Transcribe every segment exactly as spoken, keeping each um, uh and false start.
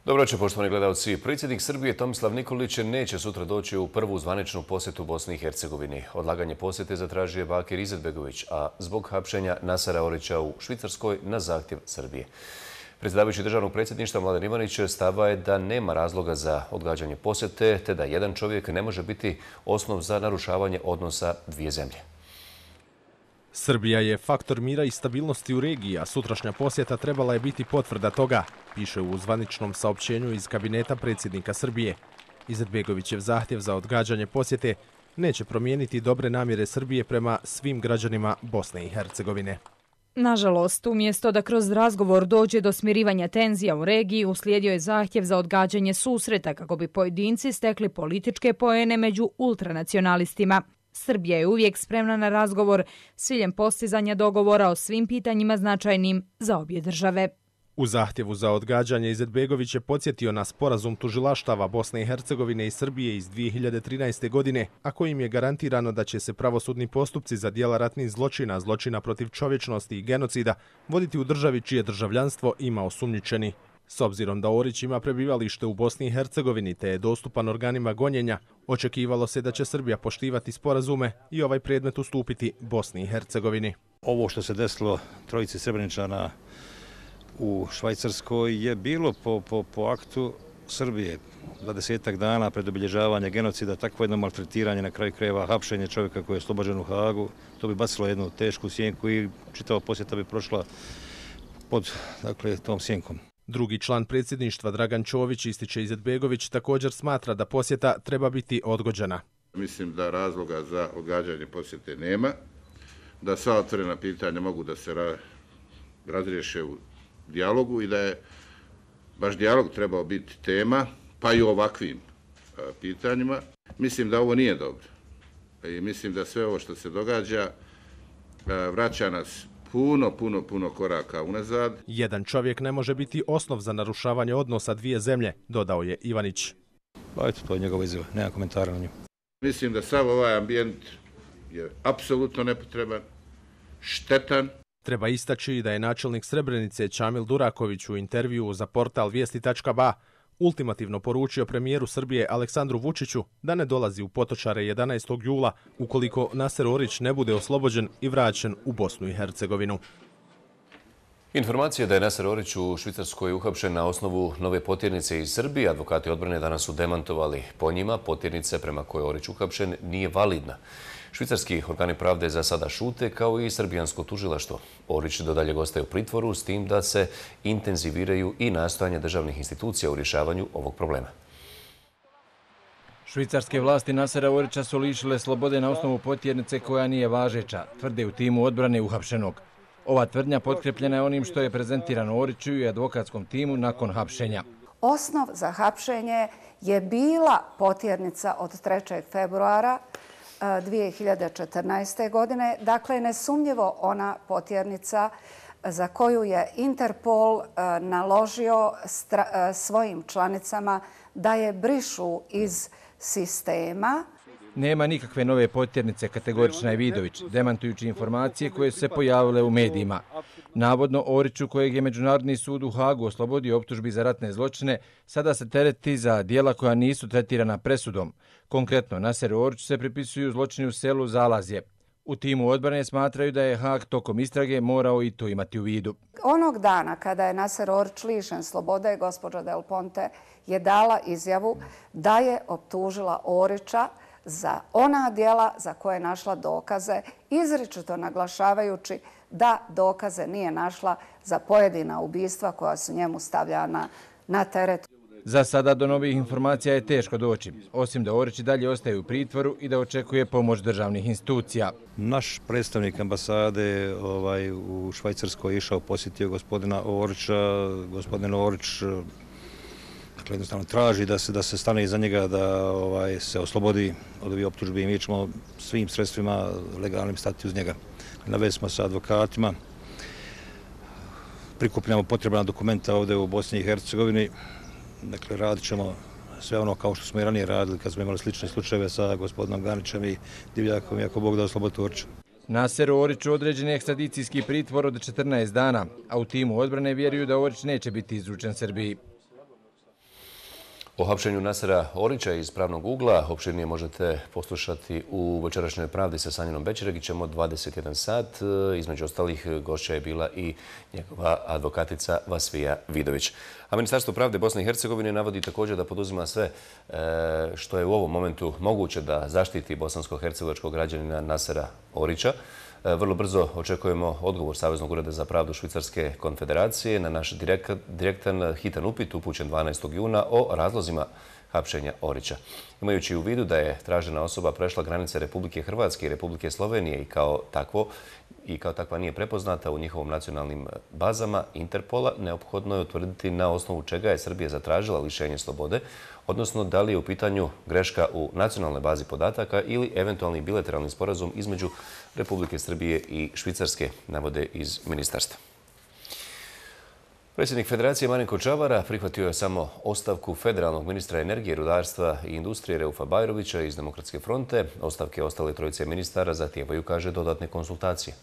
Dobro večer, poštovani gledalci. Predsjednik Srbije Tomislav Nikolić neće sutra doći u prvu zvaničnu posjetu Bosni i Hercegovini. Odlaganje posjete zatražio je Bakir Izetbegović, a zbog hapšenja Nasera Orića u Švicarskoj na zahtjev Srbije. Predsjedavajući državnog predsjedništva Mladen Ivanić stava je da nema razloga za odgađanje posjete, te da jedan čovjek ne može biti osnov za narušavanje odnosa dvije zemlje. Srbija je faktor mira i stabilnosti u regiji, a sutrašnja posjeta trebala je biti potvrda toga, piše u zvaničnom saopćenju iz kabineta predsjednika Srbije. Izetbegovićev zahtjev za odgađanje posjete neće promijeniti dobre namjere Srbije prema svim građanima Bosne i Hercegovine. Nažalost, umjesto da kroz razgovor dođe do smirivanja tenzija u regiji, uslijedio je zahtjev za odgađanje susreta kako bi pojedinci stekli političke poene među ultranacionalistima. Srbija je uvijek spremna na razgovor s ciljem postizanja dogovora o svim pitanjima značajnim za obje države. U zahtjevu za odgađanje Izetbegović je podsjetio na sporazum tužilaštava Bosne i Hercegovine i Srbije iz dvije hiljade trinaeste. godine, a kojim je garantirano da će se pravosudni postupci za djela ratnih zločina, zločina protiv čovječnosti i genocida voditi u državi čije državljanstvo ima osumnjičeni. S obzirom da Orić ima prebivalište u Bosni i Hercegovini te je dostupan organima gonjenja, očekivalo se da će Srbija poštivati sporazume i ovaj predmet ustupiti Bosni i Hercegovini. Ovo što se desilo trojici Srebreničana u Švajcarskoj je bilo po, po, po aktu Srbije. dvadesetak dana pred obilježavanje genocida, takvo jedno maltretiranje, na kraju krajeva hapšenje čovjeka koji je oslobođen u Hagu, to bi bacilo jednu tešku sjenku i čitava posjeta bi prošla pod dakle, tom sjenkom. Drugi član predsjedništva Dragan Čović, ističe Izetbegović, također smatra da posjeta treba biti odgođena. Mislim da razloga za odgađanje posjete nema, da sva otvorena pitanja mogu da se ra razriješe u dijalogu i da je baš dijalog trebao biti tema, pa i u ovakvim a, pitanjima. Mislim da ovo nije dobro i mislim da sve ovo što se događa a, vraća nas puno, puno, puno koraka unazad. Jedan čovjek ne može biti osnov za narušavanje odnosa dvije zemlje, dodao je Ivanić. Pa eto, to je njegova izjava, nema komentara na nju. Mislim da sav ovaj ambijent je apsolutno nepotreban, štetan. Treba istaći da je načelnik Srebrenice Čamil Duraković u intervjuu za portal vijesti tačka ba ultimativno poručio premijeru Srbije Aleksandru Vučiću da ne dolazi u Potočare jedanaestog jula ukoliko Naser Orić ne bude oslobođen i vraćen u Bosnu i Hercegovinu. Informacija da je Naser Orić u Švicarskoj uhapšen na osnovu nove potjernice iz Srbije, advokati odbrane danas su demantovali. Po njima, potjernica prema kojoj je Orić uhapšen nije validna. Švicarski organi pravde za sada šute, kao i srbijansko tužilaštvo. Orić do daljeg ostaje u pritvoru, s tim da se intenziviraju i nastojanja državnih institucija u rješavanju ovog problema. Švicarske vlasti Nasera Orića su lišile slobode na osnovu potjernice koja nije važeća, tvrde u timu odbrane uhapšenog. Ova tvrdnja potkrepljena je onim što je prezentirano Oriću i advokatskom timu nakon hapšenja. Osnov za hapšenje je bila potjernica od trećeg februara dvije hiljade četrnaeste. godine. Dakle, nesumnjivo ona potjernica za koju je Interpol naložio svojim članicama da je brišu iz sistema. Nema nikakve nove potjernice, kategorična je Vidović, demantujući informacije koje su se pojavile u medijima. Navodno, Oriću, kojeg je Međunarodni sud u Hagu oslobodio optužbi za ratne zločine, sada se tereti za dijela koja nisu tretirana presudom. Konkretno, Naseru Oriću se pripisuju zločini u selu Zalazje. U timu odbrane smatraju da je Hag tokom istrage morao i to imati u vidu. Onog dana kada je Naser Orić lišen slobode, gospođa Del Ponte je dala izjavu da je optužila Orića za ona djela za koje je našla dokaze, izričito naglašavajući da dokaze nije našla za pojedina ubistva koja su njemu stavljana na teret. Za sada do novih informacija je teško doći, osim da Orić dalje ostaje u pritvoru i da očekuje pomoć državnih institucija. Naš predstavnik ambasade ovaj, u Švajcarskoj išao posjetio gospodina Orića. Gospodin Orić dakle, jednostavno traži da se, da se stane iza njega, da ovaj, se oslobodi od ovih optužbi i mi ćemo svim sredstvima legalnim stati uz njega. Na vezi smo sa advokatima, prikupljamo potrebna dokumenta ovdje u Bosni i Hercegovini. Dakle, radit ćemo sve ono kao što smo i ranije radili kad smo imali slične slučajeve sa gospodinom Ganićem i Divljakom, ako Bog da oslobodi Orića. Naseru Oriću određen je ekstradicijski pritvor od četrnaest dana, a u timu odbrane vjeruju da Orić neće biti izručen Srbiji. O hapšenju Nasera Orića iz Pravnog ugla opširnije možete poslušati u Večerašnjoj pravdi sa Sanjinom Bećeregićem od dvadeset jedan sat. Između ostalih gošća je bila i njegova advokatica Vasvija Vidović. A Ministarstvo pravde Bosne i Hercegovine navodi također da poduzima sve što je u ovom momentu moguće da zaštiti bosansko-hercegovačkog građanina Nasera Orića. Vrlo brzo očekujemo odgovor Saveznog ureda za pravdu Švicarske konfederacije na naš direktan hitan upit upućen dvanaestog juna o razlozima hapšenja Orića. Imajući u vidu da je tražena osoba prešla granice Republike Hrvatske i Republike Slovenije i kao takvo i kao takva nije prepoznata u njihovom nacionalnim bazama Interpola, neophodno je utvrditi na osnovu čega je Srbija zatražila lišenje slobode, odnosno da li je u pitanju greška u nacionalnoj bazi podataka ili eventualni bilateralni sporazum između Republike Srbije i Švicarske, navode iz ministarstva. Predsjednik Federacije Marinko Čavara prihvatio je samo ostavku federalnog ministra energije, rudarstva i industrije Reufa Bajrovića iz Demokratske fronte. Ostavke ostale trojice ministara zahtijevaju, kaže, dodatne konsultacije.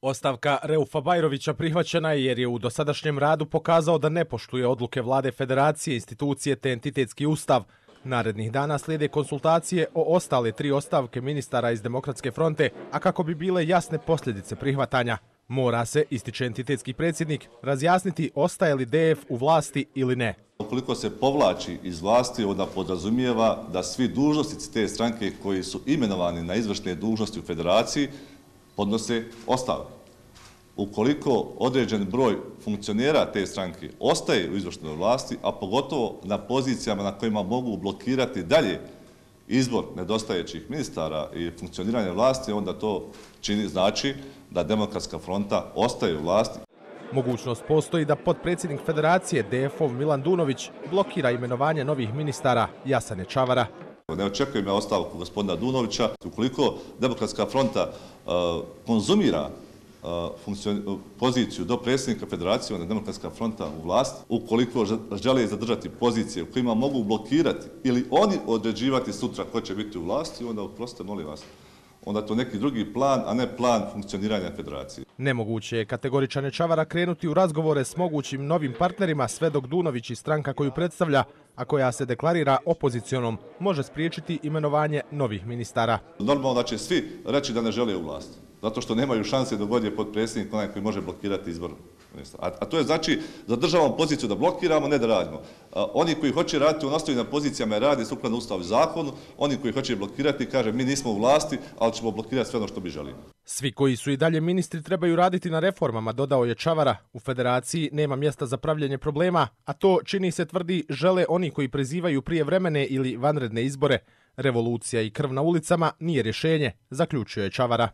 Ostavka Reufa Bajrovića prihvaćena je jer je u dosadašnjem radu pokazao da ne poštuje odluke vlade Federacije, institucije te entitetski ustav. Narednih dana slijede konsultacije o ostale tri ostavke ministara iz Demokratske fronte, a kako bi bile jasne posljedice prihvatanja. Mora se, ističe entitetski predsjednik, razjasniti ostaje li D F u vlasti ili ne. Ukoliko se povlači iz vlasti, onda podrazumijeva da svi dužnosnici te stranke koji su imenovani na izvršne dužnosti u Federaciji podnose ostavku. Ukoliko određen broj funkcionera te stranke ostaje u izvršnoj vlasti, a pogotovo na pozicijama na kojima mogu blokirati dalje izbor nedostajećih ministara i funkcioniranje vlasti, onda to čini znači da Demokratska fronta ostaje u vlasti. Mogućnost postoji da potpredsjednik Federacije D F-ov Milan Dunović blokira imenovanje novih ministara Jasane Čavara. Ne očekujem ja ostavku gospodina Dunovića. Ukoliko Demokratska fronta uh, konzumira uh, poziciju do predsjednika Federacije, onda Demokratska fronta u vlast. Ukoliko žele zadržati pozicije u kojima mogu blokirati ili oni određivati sutra ko će biti u vlasti, onda oprostite, molim vas, onda to neki drugi plan, a ne plan funkcioniranja Federacije. Nemoguće je kategoričan Čavara krenuti u razgovore s mogućim novim partnerima sve dok Dunović i stranka koju predstavlja, a koja se deklarira opozicionom, može spriječiti imenovanje novih ministara. Normalno da će svi reći da ne žele u vlasti, zato što nemaju šanse da god je potpredsjednik onaj koji može blokirati izbor ministara. A, a to je znači zadržavamo poziciju da blokiramo, ne da radimo. A, oni koji hoće raditi u nastavljenim pozicijama rade sukladno Ustavu i zakonu, oni koji hoće blokirati kaže mi nismo u vlasti, ali ćemo blokirati sve ono što bi želimo. Svi koji su i dalje ministri trebaju raditi na reformama, dodao je Čavara. U Federaciji nema mjesta za pravljenje problema, a to, čini se, tvrdi, žele oni koji prizivaju prijevremene ili vanredne izbore. Revolucija i krv na ulicama nije rješenje, zaključio je Čavara.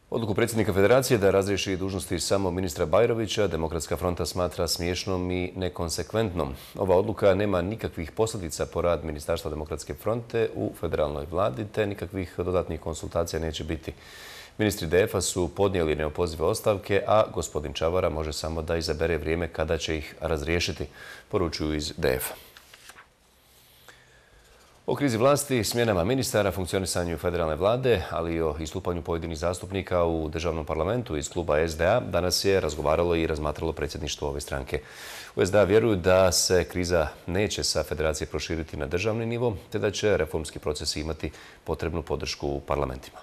Odluku predsjednika Federacije da razriješi dužnosti samo ministra Bajrovića Demokratska fronta smatra smiješnom i nekonsekventnom. Ova odluka nema nikakvih posljedica po rad Ministarstva Demokratske fronte u federalnoj vladi, te nikakvih dodatnih konsultacija neće biti. Ministri D F-a su podnijeli neopozive ostavke, a gospodin Čavara može samo da izabere vrijeme kada će ih razriješiti, poručuju iz D F-a. O krizi vlasti, smjenama ministara, funkcionisanju federalne vlade, ali i o istupanju pojedinih zastupnika u državnom parlamentu iz kluba S D A danas je razgovaralo i razmatralo predsjedništvo ove stranke. U S D A vjeruju da se kriza neće sa federacije proširiti na državni nivo, te da će reformski procesi imati potrebnu podršku u parlamentima.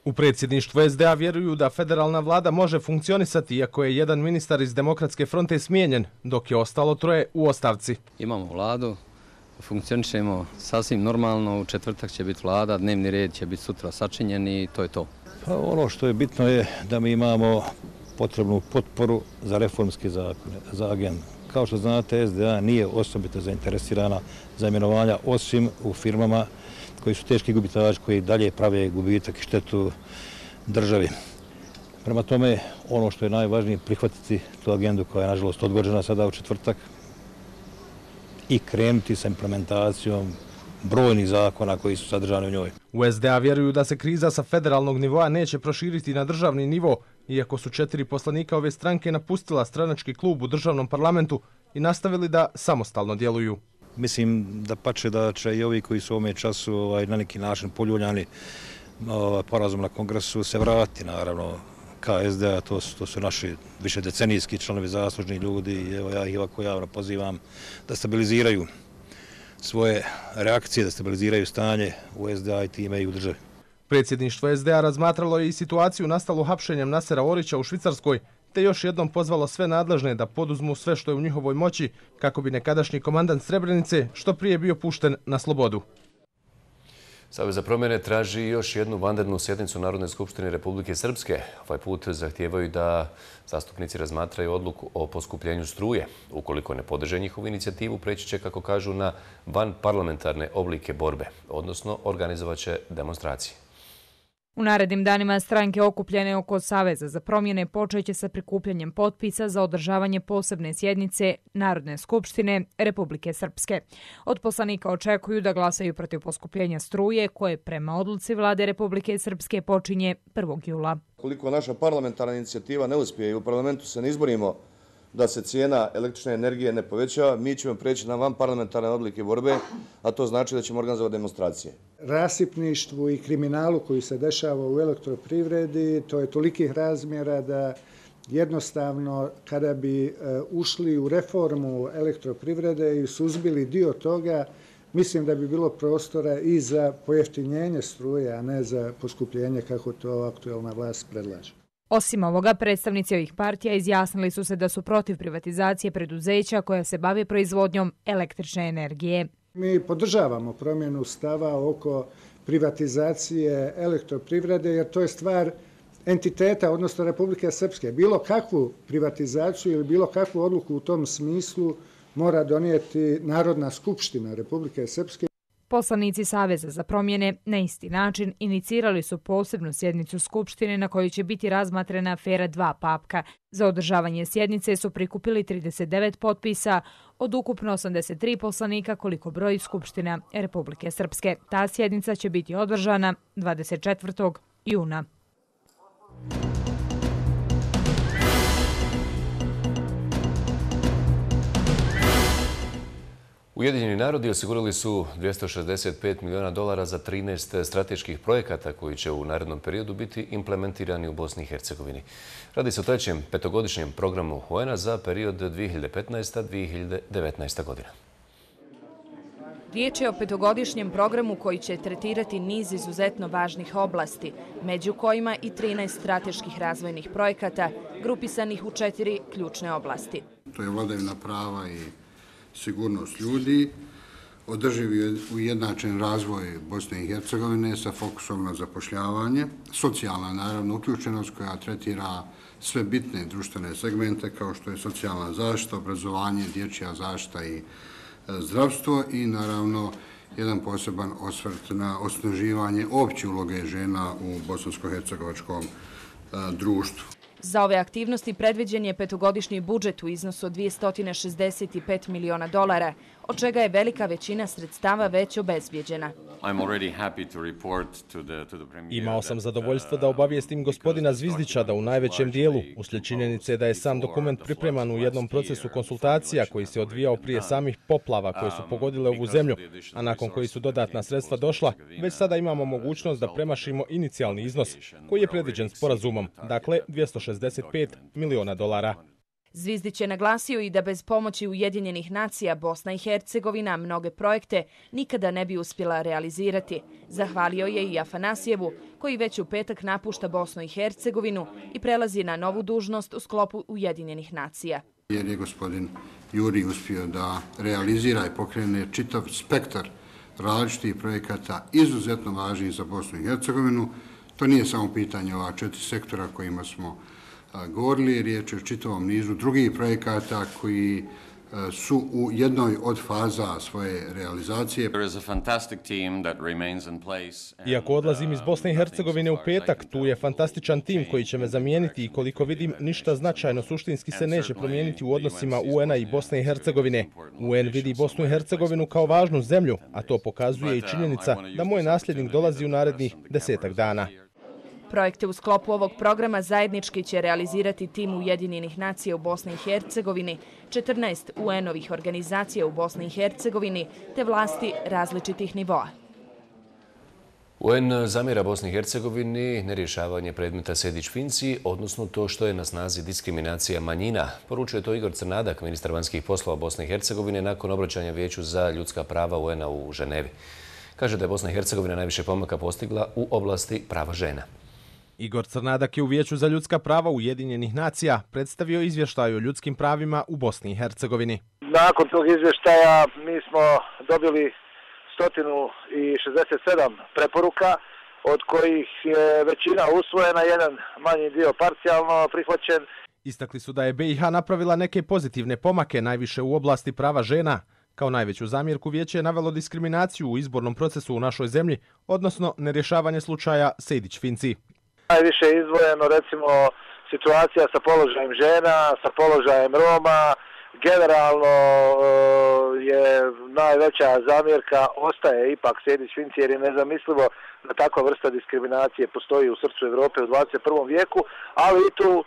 U predsjedništvu S D A vjeruju da federalna vlada može funkcionisati iako je jedan ministar iz Demokratske fronte smijenjen, dok je ostalo troje u ostavci. Imamo vladu. Funkcionišemo sasvim normalno, u četvrtak će biti vlada, dnevni red će biti sutra sačinjen i to je to. Pa ono što je bitno je da mi imamo potrebnu potporu za reformske zakone, za agendu. Kao što znate, S D A nije osobito zainteresirana za imenovanja osim u firmama koji su teški gubitači, koji dalje prave gubitak i štetu državi. Prema tome, ono što je najvažnije prihvatiti tu agendu koja je nažalost odgođena sada u četvrtak, i krenuti sa implementacijom brojnih zakona koji su sadržani u njoj. U S D A vjeruju da se kriza sa federalnog nivoa neće proširiti na državni nivo, iako su četiri poslanika ove stranke napustila stranački klub u državnom parlamentu i nastavili da samostalno djeluju. Mislim da pače da će i ovi koji su u ovome času ovaj, na neki način poljuljani ovaj, porazum na kongresu se vratiti, naravno, K S D A, to su, to su naši više decenijski članovi, zaslužni ljudi i evo ja ih ovako javno pozivam da stabiliziraju svoje reakcije, da stabiliziraju stanje u S D A i time i u državi. Predsjedništvo S D A razmatralo je i situaciju nastalu hapšenjem Nasera Orića u Švicarskoj, te još jednom pozvalo sve nadležne da poduzmu sve što je u njihovoj moći kako bi nekadašnji komandant Srebrenice što prije bio pušten na slobodu. Savez za promjene traži još jednu vanrednu sjednicu Narodne skupštine Republike Srpske. Ovaj put zahtijevaju da zastupnici razmatraju odluku o poskupljenju struje. Ukoliko ne podrže njihovu inicijativu, preći će, kako kažu, na vanparlamentarne oblike borbe, odnosno organizovat će demonstracije. U narednim danima stranke okupljene oko Saveza za promjene počeće sa prikupljanjem potpisa za održavanje posebne sjednice Narodne skupštine Republike Srpske. Od poslanika očekuju da glasaju protiv poskupljenja struje koje prema odluci vlade Republike Srpske počinje prvog jula. Koliko naša parlamentarna inicijativa ne uspije i u parlamentu se ne izborimo da se cijena električne energije ne povećava, mi ćemo preći na vanparlamentarne oblike borbe, a to znači da ćemo organizovati demonstracije. Rasipništvu i kriminalu koji se dešava u elektroprivredi, to je tolikih razmjera da jednostavno kada bi ušli u reformu elektroprivrede i suzbili dio toga, mislim da bi bilo prostora i za pojeftinjenje struje, a ne za poskupljenje kako to aktuelna vlast predlaže. Osim ovoga, predstavnici ovih partija izjasnili su se da su protiv privatizacije preduzeća koja se bave proizvodnjom električne energije. Mi podržavamo promjenu stava oko privatizacije elektroprivrede jer to je stvar entiteta, odnosno Republike Srpske. Bilo kakvu privatizaciju ili bilo kakvu odluku u tom smislu mora donijeti Narodna skupština Republike Srpske. Poslanici Saveza za promjene na isti način inicirali su posebnu sjednicu Skupštine na kojoj će biti razmatrana afera dva papka. Za održavanje sjednice su prikupili trideset devet potpisa od ukupno osamdeset tri poslanika koliko broji Skupština Republike Srpske. Ta sjednica će biti održana dvadeset četvrtog juna. Ujedinjeni narodi osigurali su dvjesto šezdeset pet milijuna dolara za trinaest strateških projekata koji će u narednom periodu biti implementirani u Bosni i Hercegovini. Radi se o trećem petogodišnjem programu U N A za period dvije hiljade petnaesta do dvije hiljade devetnaesta godina. Riječ je o petogodišnjem programu koji će tretirati niz izuzetno važnih oblasti, među kojima i trinaest strateških razvojnih projekata grupisanih u četiri ključne oblasti. To je vladavina prava i sigurnost ljudi, održivi ujednačen razvoj Bosne i Hercegovine sa fokusom na zapošljavanje, socijalna naravno uključenost koja tretira sve bitne društvene segmente kao što je socijalna zaštita, obrazovanje, dječja zaštita i zdravstvo i naravno jedan poseban osvrt na osnaživanje opće uloge žena u bosansko-hercegovačkom društvu. Za ove aktivnosti predviđen je petogodišnji budžet u iznosu od dvjesto šezdeset pet miliona dolara, od čega je velika većina sredstava već obezbijeđena. Imao sam zadovoljstvo da obavijestim gospodina Zvizdića da u najvećem dijelu, uslijed činjenice da je sam dokument pripreman u jednom procesu konsultacija koji se odvijao prije samih poplava koje su pogodile ovu zemlju, a nakon koji su dodatna sredstva došla, već sada imamo mogućnost da premašimo inicijalni iznos koji je predviđen sporazumom, dakle dvjesto šezdeset pet miliona dolara. Zvizdić je naglasio i da bez pomoći Ujedinjenih nacija Bosna i Hercegovina mnoge projekte nikada ne bi uspjela realizirati. Zahvalio je i Afanasijevu, koji već u petak napušta Bosnu i Hercegovinu i prelazi na novu dužnost u sklopu Ujedinjenih nacija. Jer je gospodin Juri uspio da realizira i pokrene čitav spektar različitih projekata izuzetno važnih za Bosnu i Hercegovinu. To nije samo pitanje ova četiri sektora kojima smo govorili, riječ je o čitavom nizu drugih projekata koji su u jednoj od faza svoje realizacije. Iako odlazim iz Bosne i Hercegovine u petak, tu je fantastičan tim koji će me zamijeniti i koliko vidim ništa značajno suštinski se neće promijeniti u odnosima U N A i Bosne i Hercegovine. U N vidi Bosnu i Hercegovinu kao važnu zemlju, a to pokazuje i činjenica da moj nasljednik dolazi u narednih desetak dana. Projekte u sklopu ovog programa zajednički će realizirati tim Ujedinjenih nacija u Bosni i Hercegovini, četrnaest U N-ovih organizacija u Bosni i Hercegovini te vlasti različitih nivoa. U en zamjera Bosni i Hercegovini nerješavanje predmeta Sejdić-Finci, odnosno to što je na snazi diskriminacija manjina. Poručuje to Igor Crnadak, ministar vanjskih poslova Bosne i Hercegovine, nakon obraćanja Vijeću za ljudska prava u en-a u Ženevi. Kaže da je Bosna i Hercegovina najviše pomaka postigla u oblasti prava žena. Igor Crnadak je u Vijeću za ljudska prava Ujedinjenih nacija predstavio izvještaj o ljudskim pravima u Bosni i Hercegovini. Nakon tog izvještaja mi smo dobili sto šezdeset sedam preporuka, od kojih je većina usvojena, jedan manji dio parcijalno prihvaćen. Istakli su da je be i ha napravila neke pozitivne pomake, najviše u oblasti prava žena. Kao najveću zamjerku Vijeće je navelo diskriminaciju u izbornom procesu u našoj zemlji, odnosno nerješavanje slučaja Sejdić-Finci. Najviše je izdvojeno recimo situacija sa položajem žena, sa položajem Roma. Generalno je najveća zamjerka ostaje ipak Sejdić-Finci, jer je nezamislivo da takva vrsta diskriminacije postoji u srcu Evrope u dvadeset prvom vijeku, ali i tu e,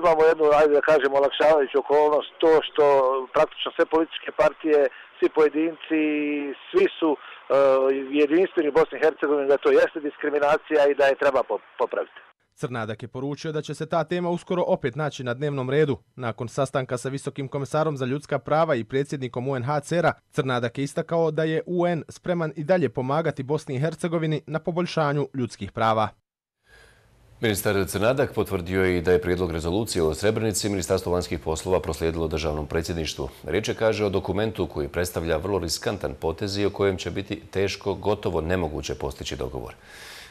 imamo jednu, ajde da kažemo, olakšavajuću okolnost, to što praktično sve političke partije, svi pojedinci, svi su e, jedinstveni u Bosni i Hercegovini da to jeste diskriminacija i da je treba popraviti. Crnadak je poručio da će se ta tema uskoro opet naći na dnevnom redu. Nakon sastanka sa Visokim komesarom za ljudska prava i predsjednikom u en ha ce er-a, Crnadak je istakao da je u en spreman i dalje pomagati Bosni i Hercegovini na poboljšanju ljudskih prava. Ministar Crnadak potvrdio je i da je prijedlog rezolucije o Srebrenici Ministarstvo vanjskih poslova proslijedilo državnom predsjedništvu. Riječ je, kaže, o dokumentu koji predstavlja vrlo riskantan potez i o kojem će biti teško, gotovo nemoguće postići dogovor.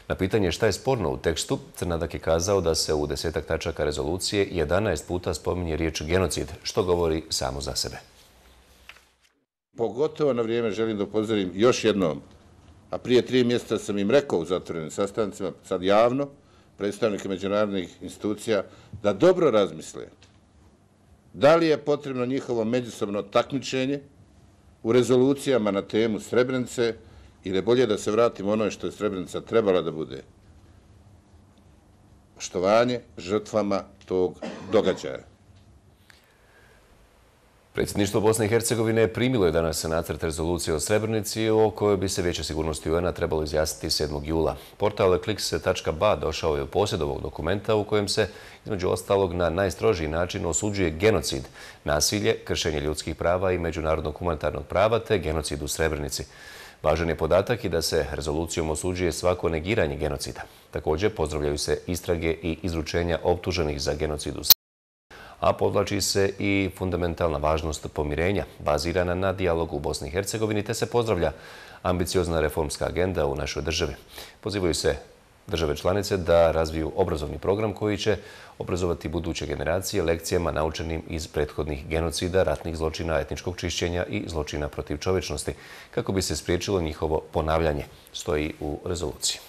Na pitanje šta je sporno u tekstu, Crnadak je kazao da se u desetak tačaka rezolucije jedanaest puta spominje riječ genocid, što govori samo za sebe. Pogotovo na vrijeme želim da upozorim još jednom, a prije tri mjeseca sam im rekao u zatvorenim sastancima, sad javno, predstavnike međunarodnih institucija, da dobro razmisle da li je potrebno njihovo međusobno takmičenje u rezolucijama na temu Srebrenice, ili je bolje da se vratimo onoj što je Srebrenica trebala da bude. Poštovanje žrtvama tog događaja. Predsjedništvo Bosne i Hercegovine primilo je danas nacrt rezolucije o Srebrenici o kojoj bi se Vijeće sigurnosti u en-a trebalo izjasniti sedmog jula. Portal ekliks tačka ba došao je u posjed ovog dokumenta u kojem se, između ostalog, na najstrožiji način osuđuje genocid, nasilje, kršenje ljudskih prava i međunarodnog humanitarnog prava te genocid u Srebrenici. Važan je podatak i da se rezolucijom osuđuje svako negiranje genocida. Također pozdravljaju se istrage i izručenja optuženih za genocid u Srebrenici, a podvlači se i fundamentalna važnost pomirenja, bazirana na dijalogu u Bosni i Hercegovini, te se pozdravlja ambiciozna reformska agenda u našoj državi. Pozivaju se države članice da razviju obrazovni program koji će obrazovati buduće generacije lekcijama naučenim iz prethodnih genocida, ratnih zločina, etničkog čišćenja i zločina protiv čovječnosti, kako bi se spriječilo njihovo ponavljanje, stoji u rezoluciji.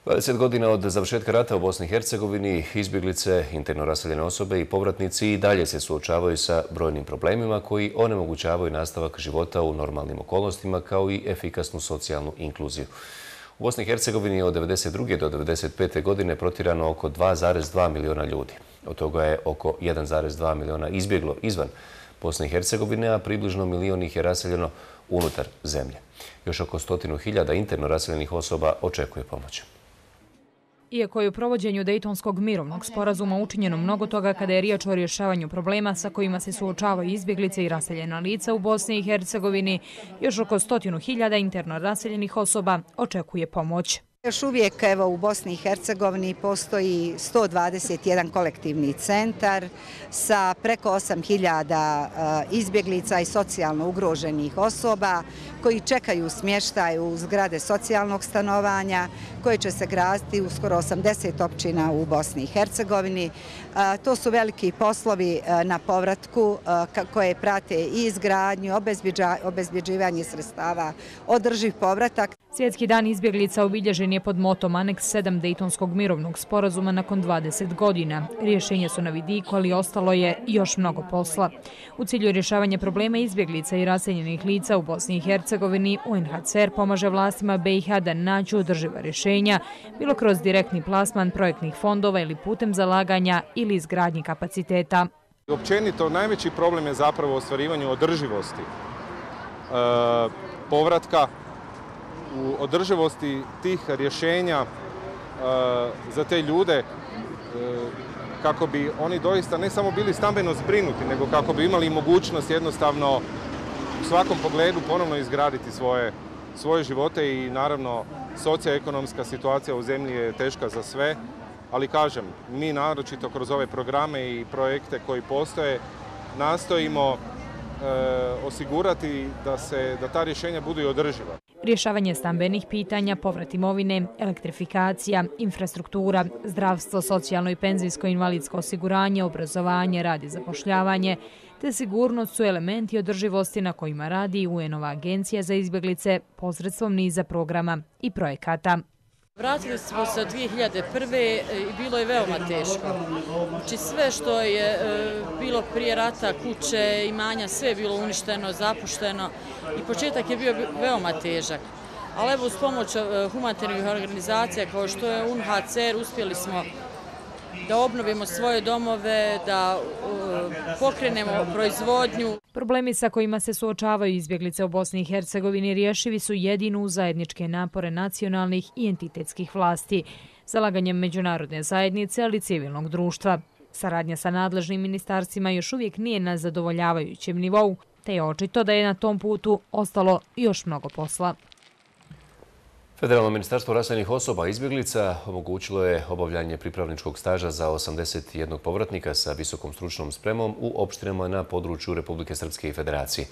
dvadeset godina od završetka rata u Bosni i Hercegovini, izbjeglice, interno raseljene osobe i povratnici i dalje se suočavaju sa brojnim problemima koji onemogućavaju nastavak života u normalnim okolnostima kao i efikasnu socijalnu inkluziju. U Bosni i Hercegovini je od devedeset druge do devedeset pete godine protirano oko dva zarez dva miliona ljudi. Od toga je oko jedan zarez dva miliona izbjeglo izvan Bosne i Hercegovine, a približno milion ih je raseljeno unutar zemlje. Još oko stotinu hiljada interno raseljenih osoba očekuje pomoć. Iako je u provođenju Dejtonskog mirovnog sporazuma učinjeno mnogo toga kada je riječ o rješavanju problema sa kojima se suočavaju izbjeglice i raseljena lica u Bosni i Hercegovini, još oko stotinu hiljada interno raseljenih osoba očekuje pomoć. Još uvijek evo, u Bosni i Hercegovini postoji sto dvadeset jedan kolektivni centar sa preko osam hiljada izbjeglica i socijalno ugroženih osoba koji čekaju smještaj u zgrade socijalnog stanovanja koje će se graditi u skoro osamdeset općina u Bosni i Hercegovini. To su veliki poslovi na povratku koje prate i izgradnju, obezbjeđivanje sredstava, održiv povratak. Svjetski dan izbjeglica obilježen je pod motom Aneks sedam Dejtonskog mirovnog sporazuma nakon dvadeset godina. Rješenje su na vidiku, ali ostalo je još mnogo posla. U cilju rješavanja problema izbjeglica i raseljenih lica u Bosni i Hercegovini, u en ha ce er pomože vlastima be i ha da nađu održiva rješenja, bilo kroz direktni plasman projektnih fondova ili putem zalaganja ili izgradnji kapaciteta. Općenito, najveći problem je zapravo u ostvarivanju održivosti e, povratka u održivosti tih rješenja za te ljude kako bi oni doista ne samo bili stambeno zbrinuti, nego kako bi imali mogućnost jednostavno u svakom pogledu ponovno izgraditi svoje, svoje živote i naravno socioekonomska situacija u zemlji je teška za sve, ali kažem, mi naročito kroz ove programe i projekte koji postoje nastojimo e, osigurati da, se, da ta rješenja budu i održiva. Rješavanje stambenih pitanja, povrat imovine, elektrifikacija, infrastruktura, zdravstvo, socijalno i penzijsko invalidsko osiguranje, obrazovanje, rad i zapošljavanje, te sigurnost su elementi održivosti na kojima radi U N-ova agencija za izbjeglice posredstvom niza programa i projekata. Vratili smo se dvije hiljade prve i bilo je veoma teško. Znači sve što je bilo prije rata, kuće, imanja, sve je bilo uništeno, zapušteno i početak je bio veoma težak. Ali evo uz pomoć humanitarnih organizacija kao što je U N H C R uspjeli smo da obnovimo svoje domove, da uh, pokrenemo proizvodnju. Problemi sa kojima se suočavaju izbjeglice u Bosni i Hercegovini rješivi su jedino uz zajedničke napore nacionalnih i entitetskih vlasti, zalaganjem međunarodne zajednice, ali i civilnog društva. Saradnja sa nadležnim ministarstvima još uvijek nije na zadovoljavajućem nivou, te je očito da je na tom putu ostalo još mnogo posla. Federalno ministarstvo raseljenih osoba i izbjeglica omogućilo je obavljanje pripravničkog staža za osamdeset jedan povratnika sa visokom stručnom spremom u opštinama na području Republike Srpske i Federacije.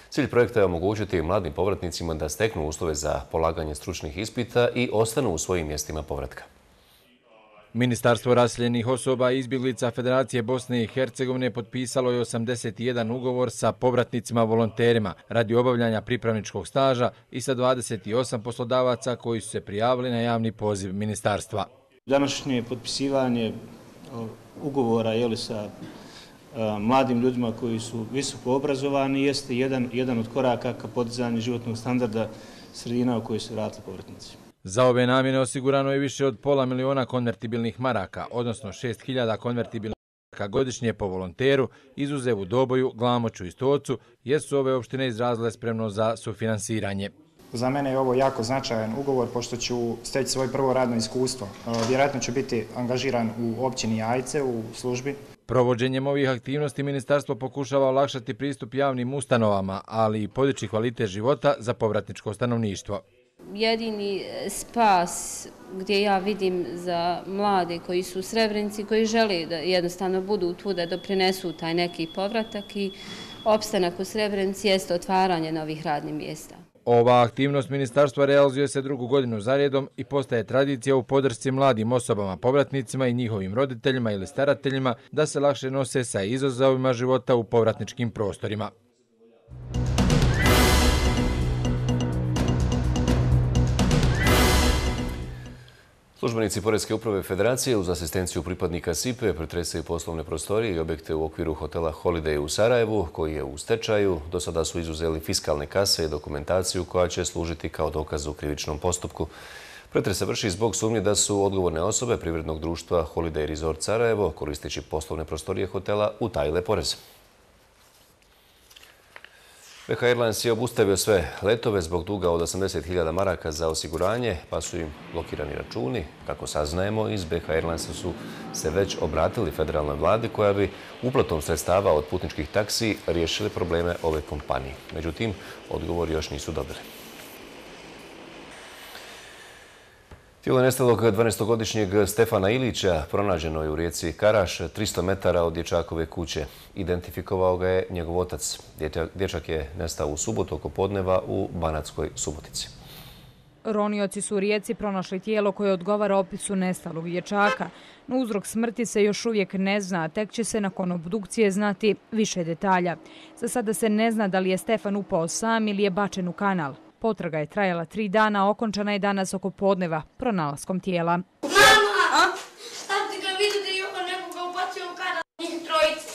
Cilj projekta je omogućiti mladim povratnicima da steknu uslove za polaganje stručnih ispita i ostanu u svojim mjestima povratka. Ministarstvo raseljenih osoba i izbjeglica Federacije Bosne i Hercegovine potpisalo je osamdeset jedan ugovor sa povratnicima volonterima radi obavljanja pripravničkog staža i sa dvadeset osam poslodavaca koji su se prijavili na javni poziv ministarstva. Današnje potpisivanje ugovora je sa mladim ljudima koji su visoko obrazovani jeste jedan, jedan od koraka ka podizanju životnog standarda sredina u kojoj se vratili povratnici. Za ove namjene osigurano je više od pola miliona konvertibilnih maraka, odnosno šest hiljada konvertibilnih maraka godišnje po volonteru, izuzev u Doboju, Glamoču i Stocu, jer su ove opštine izrazile spremno za sufinansiranje. Za mene je ovo jako značajan ugovor, pošto ću steći svoje prvo radno iskustvo. Vjerojatno ću biti angažiran u općini Jajce u službi. Provođenjem ovih aktivnosti ministarstvo pokušava olakšati pristup javnim ustanovama, ali i podići kvalitet života za povratničko stanovništvo. Jedini spas gdje ja vidim za mlade koji su u Srebrenici, koji žele da jednostavno budu tu da doprinesu taj neki povratak i opstanak u Srebrenici jeste otvaranje novih radnih mjesta. Ova aktivnost ministarstva realizuje se drugu godinu zaredom i postaje tradicija u podršci mladim osobama, povratnicima i njihovim roditeljima ili starateljima da se lakše nose sa izazovima života u povratničkim prostorima. Službenici Poreske uprave Federacije uz asistenciju pripadnika S I P E pretresaju poslovne prostorije i objekte u okviru hotela Holiday u Sarajevu, koji je u stečaju. Do sada su izuzeli fiskalne kase i dokumentaciju koja će služiti kao dokaz u krivičnom postupku. Pretres se vrši zbog sumnje da su odgovorne osobe privrednog društva Holiday Resort Sarajevo, koristeći poslovne prostorije hotela, utajile porez. B H Airlines je obustavio sve letove zbog duga od osamdeset hiljada maraka za osiguranje, pa su im blokirani računi. Kako saznajemo, iz B H Airlinesa su se već obratili federalnoj vladi koja bi uplatom sredstava od putničkih taksi riješili probleme ove kompanije. Međutim, odgovor još nisu dobili. Tijelo nestalog dvanaestogodišnjeg Stefana Ilića pronađeno je u rijeci Karaš, tristo metara od dječakove kuće. Identifikovao ga je njegov otac. Dječak je nestao u subotu oko podneva u Banatskoj Subotici. Ronioci su u rijeci pronašli tijelo koje odgovara opisu nestalog dječaka. No uzrok smrti se još uvijek ne zna, tek će se nakon obdukcije znati više detalja. Za sada se ne zna da li je Stefan upao sam ili je bačen u kanal. Potraga je trajala tri dana, okončana je danas oko podneva pronalaskom tijela. Mama! Tati ga vidio da je ovo nekoga ubacio u kanal. Njih trojice.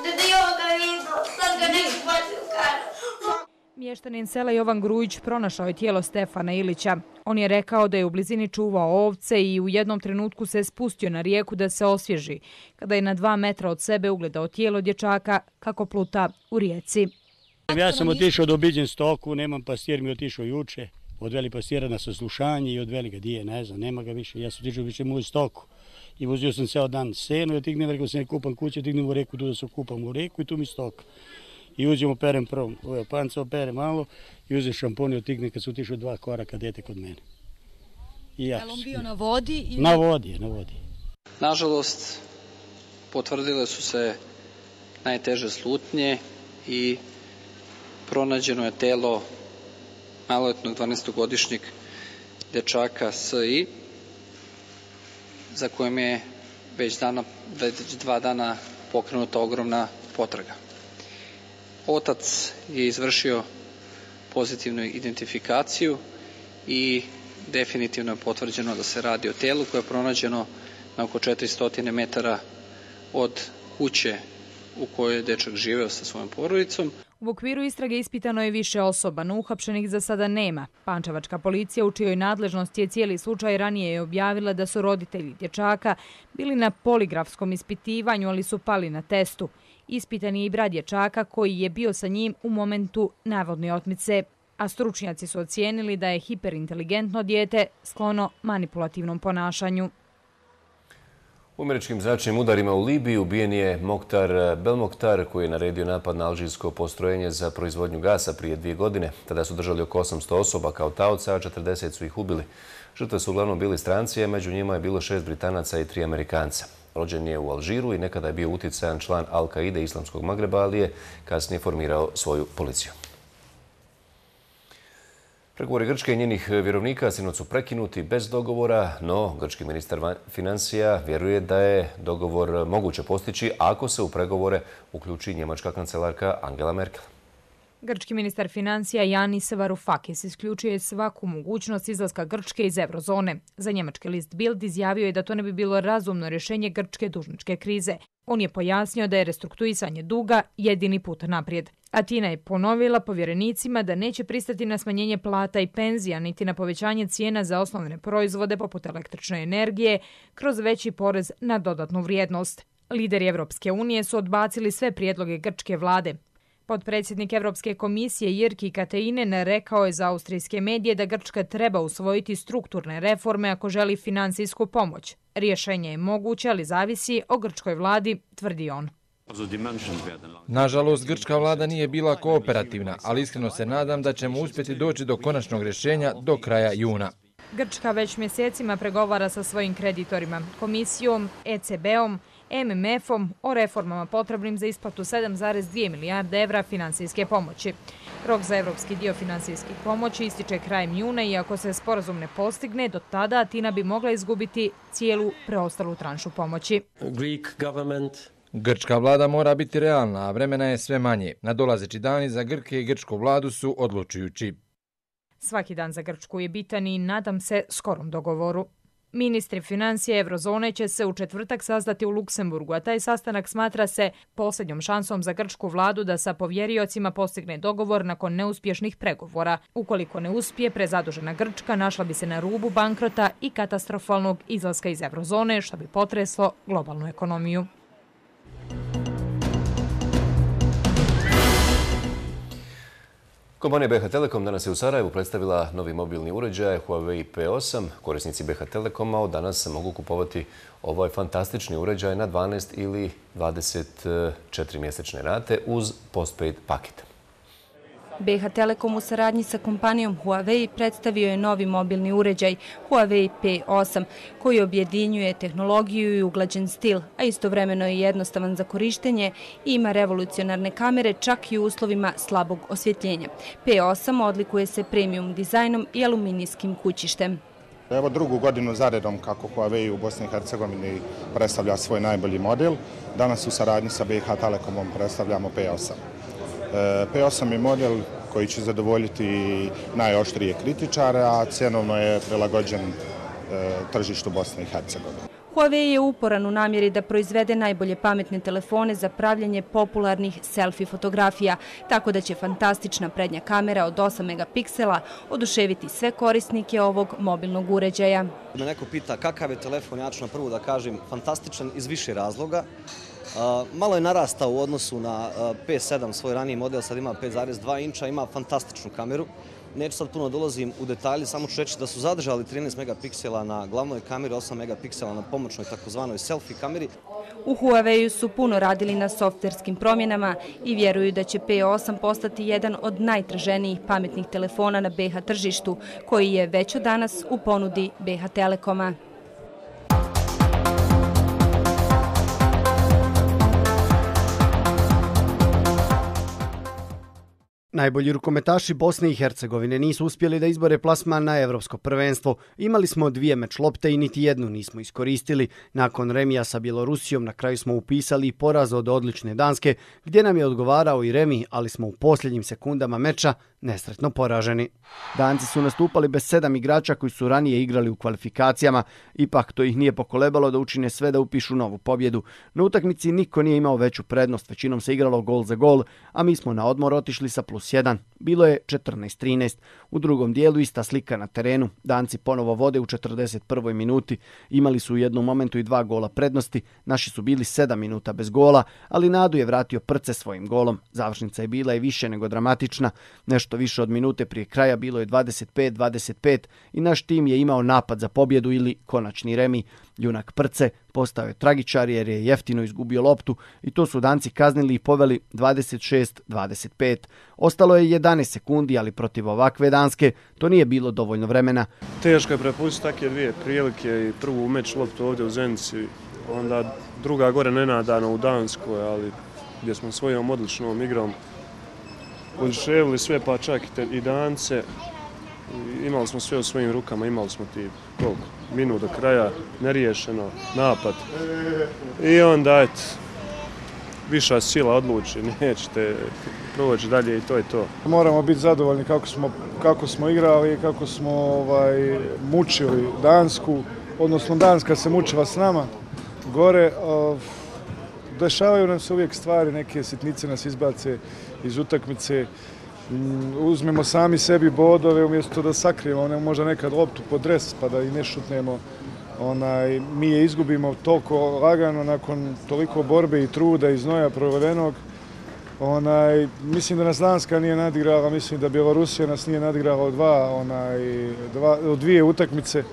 Da je ovo ga vidio, sad ga neko ubacio u kanal. Mještanin sela Jovan Grujić pronašao je tijelo Stefana Ilića. On je rekao da je u blizini čuvao ovce i u jednom trenutku se spustio na rijeku da se osvježi, kada je na dva metra od sebe ugledao tijelo dječaka kako pluta u rijeci. Ja sam otišao da obiđem stoku, nemam pastir, mi otišao juče. odveli pastira na saslušanje i odveli ga, dije, ne znam, nema ga više, ja sam tiču više moju stoku. I vozio sam ceo dan seno i otignem, rekao sam, kupam kuće, otignem u reku, tu da se kupam u reku i tu mi stoka. I uzim, operem prvo, ovo panca opere malo i uzem šampon i otignem kad su otišao dva koraka dete kod mene. Je li on bio na vodi? Ili... Na vodi je, na vodi. Nažalost, potvrdile su se najteže slutnje i pronađeno je telo maloletnog dvanaestogodišnjeg dečaka S I, za kojem je već, dana, već dva dana pokrenuta ogromna potraga. Otac je izvršio pozitivnu identifikaciju i definitivno je potvrđeno da se radi o telu koje je pronađeno na oko četiristo metara od kuće u kojoj je dečak živeo sa svojom porodicom. U okviru istrage ispitano je više osoba, no uhapšenih za sada nema. Pančevačka policija, u čijoj nadležnosti je cijeli slučaj, ranije je objavila da su roditelji dječaka bili na poligrafskom ispitivanju, ali su pali na testu. Ispitan je i brat dječaka koji je bio sa njim u momentu navodne otmice, a stručnjaci su ocijenili da je hiperinteligentno dijete sklono manipulativnom ponašanju. U američkim zračnim udarima u Libiji ubijen je Mokhtar Belmokhtar, koji je naredio napad na alžirsko postrojenje za proizvodnju gasa prije dvije godine. Tada su držali oko osamsto osoba kao taoca, a četrdeset su ih ubili. Žrtve su uglavnom bili stranci, a među njima je bilo šest Britanaca i tri Amerikanca. Rođen je u Alžiru i nekada je bio utjecajan član Al-Kaide Islamskog Magreba, ali je kasnije formirao svoju policiju. Pregovori Grčke i njenih vjerovnika sinoć su prekinuti bez dogovora, no grčki ministar financija vjeruje da je dogovor moguće postići ako se u pregovore uključi njemačka kancelarka Angela Merkel. Grčki ministar financija Yanis Varoufakis isključuje svaku mogućnost izlaska Grčke iz eurozone. Za njemački list Bild izjavio je da to ne bi bilo razumno rješenje grčke dužničke krize. On je pojasnio da je restrukturisanje duga jedini put naprijed. Atina je ponovila povjerenicima da neće pristati na smanjenje plata i penzija, niti na povećanje cijena za osnovne proizvode poput električne energije kroz veći porez na dodatnu vrijednost. Lideri Evropske unije su odbacili sve prijedloge grčke vlade. Potpredsjednik Evropske komisije Jyrki Katainen rekao je za austrijske medije da Grčka treba usvojiti strukturne reforme ako želi finansijsku pomoć. Rješenje je moguće, ali zavisi o grčkoj vladi, tvrdi on. Nažalost, grčka vlada nije bila kooperativna, ali iskreno se nadam da ćemo uspjeti doći do konačnog rješenja do kraja juna. Grčka već mjesecima pregovara sa svojim kreditorima, komisijom, E C B-om, M M F-om o reformama potrebnim za isplatu sedam zarez dvije milijarde evra finansijske pomoći. Rok za evropski dio finansijskih pomoći ističe krajem juna i ako se sporazum ne postigne, do tada Atina bi mogla izgubiti cijelu preostalu tranšu pomoći. Grčka vlada mora biti realna, a vremena je sve manje. Nadolazeći dani za Grke i grčku vladu su odlučujući. Svaki dan za Grčku je bitan i nadam se skorom dogovoru. Ministri financije eurozone će se u četvrtak sastati u Luksemburgu, a taj sastanak smatra se posljednjom šansom za grčku vladu da sa povjeriocima postigne dogovor nakon neuspješnih pregovora. Ukoliko ne uspije, prezadužena Grčka našla bi se na rubu bankrota i katastrofalnog izlaska iz eurozone, što bi potreslo globalnu ekonomiju. Kompanija B H Telekom danas je u Sarajevu predstavila novi mobilni uređaj Huawei P osam. Korisnici B H Telekoma od danas mogu kupovati ovaj fantastični uređaj na dvanaest ili dvadeset četiri mjesečne rate uz postpaid paket. B H Telekom u saradnji sa kompanijom Huawei predstavio je novi mobilni uređaj Huawei P osam koji objedinjuje tehnologiju i uglađen stil, a istovremeno je jednostavan za korištenje i ima revolucionarne kamere čak i u uslovima slabog osvjetljenja. P osam odlikuje se premium dizajnom i aluminijskim kućištem. Evo drugu godinu zaredom kako Huawei u Bosni i Hercegovini predstavlja svoj najbolji model. Danas u saradnji sa B H Telekomom predstavljamo P osam. P osam je model koji će zadovoljiti najoštrije kritičare, a cjenovno je prilagođen tržištu Bosne i Hercegovine. Huawei je uporan u namjeri da proizvede najbolje pametne telefone za pravljenje popularnih selfie fotografija, tako da će fantastična prednja kamera od osam megapiksela oduševiti sve korisnike ovog mobilnog uređaja. Me neko pita kakav je telefon, ja ću na prvu da kažem fantastičan iz više razloga. Malo je narastao u odnosu na P sedam, svoj raniji model, sad ima pet zarez dva inča, ima fantastičnu kameru. Neću sad puno dolazim u detalje, samo ću reći da su zadržali trinaest megapiksela na glavnoj kameri, osam megapiksela na pomoćnoj takozvanoj selfie kameri. U Huawei su puno radili na softverskim promjenama i vjeruju da će P osam postati jedan od najtraženijih pametnih telefona na B H tržištu, koji je već od danas u ponudi B H Telekoma. Najbolji rukometaši Bosne i Hercegovine nisu uspjeli da izbore plasman na Evropsko prvenstvo. Imali smo dvije meč lopte i niti jednu nismo iskoristili. Nakon remija sa Bjelorusijom na kraju smo upisali poraz od odlične Danske, gdje nam je odgovarao i remi, ali smo u posljednjim sekundama meča nesretno poraženi. Danci su nastupali bez sedam igrača koji su ranije igrali u kvalifikacijama, ipak to ih nije pokolebalo da učine sve da upišu novu pobjedu. Na utakmici niko nije imao veću prednost, većinom se igralo gol za gol, a mi smo na odmor otišli sa plus jedan. Bilo je četrnaest trinaest. U drugom dijelu ista slika na terenu. Danci ponovo vode u četrdeset prvoj minuti. Imali su u jednom momentu i dva gola prednosti. Naši su bili sedam minuta bez gola, ali nadu je vratio Prce svojim golom. Završnica je bila i više nego dramatična. Nešto više od minute prije kraja bilo je dvadeset pet dvadeset pet i naš tim je imao napad za pobjedu ili konačni remi. Junak Prce postao je tragičar jer je jeftino izgubio loptu i to su Danci kaznili i poveli dvadeset šest dvadeset pet. Ostalo je jedanaest sekundi, ali protiv ovakve Danske to nije bilo dovoljno vremena. Teško je prepustiti takve dvije prilike i prvu meč loptu ovdje u Zenici, onda druga gore nenadano u Danskoj, ali gdje smo svojom odličnom igrom odševili sve, pa čak i Dance. Imali smo sve u svojim rukama, imali smo ti koliko minut do kraja, neriješeno, napad. I onda, eto, viša sila odluči, nećete proći dalje i to je to. Moramo biti zadovoljni kako smo, kako smo igrali, kako smo ovaj, mučili Dansku, odnosno Danska se mučila s nama gore. Dešavaju nam se uvijek stvari, neke sitnice nas izbace iz utakmice. Uzmemo sami sebi bodove umjesto da sakrijemo ne, možda nekad loptu pod dres pa da i ne šutnemo. Onaj, mi je izgubimo toliko lagano nakon toliko borbe i truda i znoja provedenog. Onaj, mislim da nas Danska nije nadigrala, mislim da Bjelorusija nas nije nadigrala od, dva, onaj, dva, od dvije utakmice.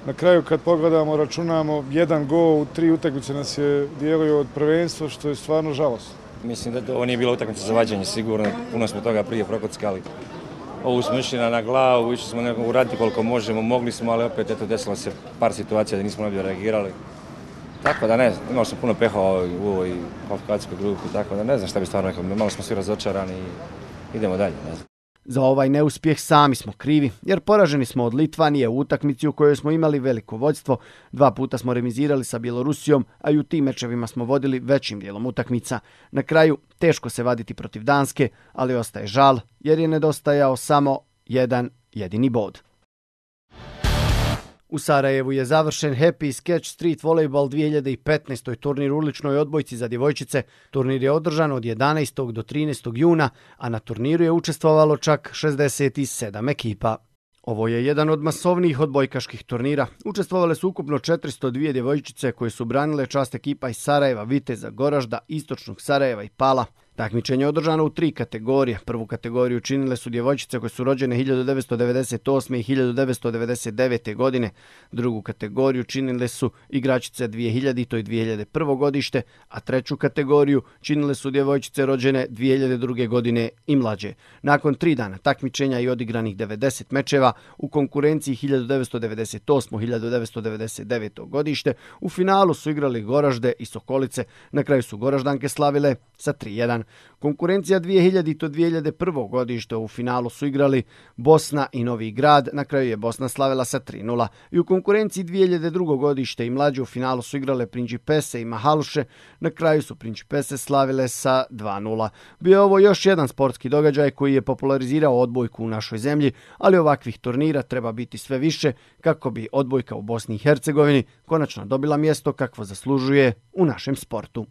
Na kraju kad pogledamo, računamo, jedan gol u tri utakmice nas je dijelio od prvenstva, što je stvarno žalosno. Mislim da ovo nije bila utakmica za vađenje, sigurno. Puno smo toga prije prokockali. Ovu smo išli na glavu, išli smo nekako uraditi koliko možemo, mogli smo, ali opet eto, desilo se par situacija da nismo najbolje reagirali. Tako da ne znam, imali smo puno peha u ovoj kvalifikacijskoj grupi, tako da ne znam šta bi stvarno rekao. Malo smo svi razočarani i idemo dalje, ne znam. Za ovaj neuspjeh sami smo krivi, jer poraženi smo od Litvanije u utakmici u kojoj smo imali veliko vođstvo. Dva puta smo remizirali sa Bjelorusijom, a i u tim mečevima smo vodili većim dijelom utakmica. Na kraju, teško se vaditi protiv Danske, ali ostaje žal, jer je nedostajao samo jedan jedini bod. U Sarajevu je završen Happy Sketch Street Volleyball dvije hiljade petnaeste. turnir u uličnoj odbojci za djevojčice. Turnir je održan od jedanaestog do trinaestog juna, a na turniru je učestvovalo čak šezdeset sedam ekipa. Ovo je jedan od masovnijih odbojkaških turnira. Učestvovale su ukupno četiristo dvije djevojčice koje su branile čast ekipa iz Sarajeva, Viteza, Goražda, Istočnog Sarajeva i Pala. Takmičenje je održano u tri kategorije. Prvu kategoriju činile su djevojčice koje su rođene hiljadu devetsto devedeset osme. i hiljadu devetsto devedeset devete. godine. Drugu kategoriju činile su igračice dvije hiljadite. i dvije hiljade prve. godište, a treću kategoriju činile su djevojčice rođene dvije hiljade druge. godine i mlađe. Nakon tri dana takmičenja i odigranih devedeset mečeva u konkurenciji hiljadu devetsto devedeset osme. i hiljadu devetsto devedeset devete. godište, u finalu su igrali Goražde i Sokolice. Na kraju su Goraždanke slavile sa tri jedan. Konkurencija dvije hiljadite. i dvije hiljade prve. godište, u finalu su igrali Bosna i Novi Grad, na kraju je Bosna slavila sa tri nula. I u konkurenciji dvije hiljade druge. godište i mlađe u finalu su igrale Principese i Mahaluše, na kraju su Principese slavile sa dva nula. Bio je ovo još jedan sportski događaj koji je popularizirao odbojku u našoj zemlji, ali ovakvih turnira treba biti sve više kako bi odbojka u Bosni i Hercegovini konačno dobila mjesto kakvo zaslužuje u našem sportu.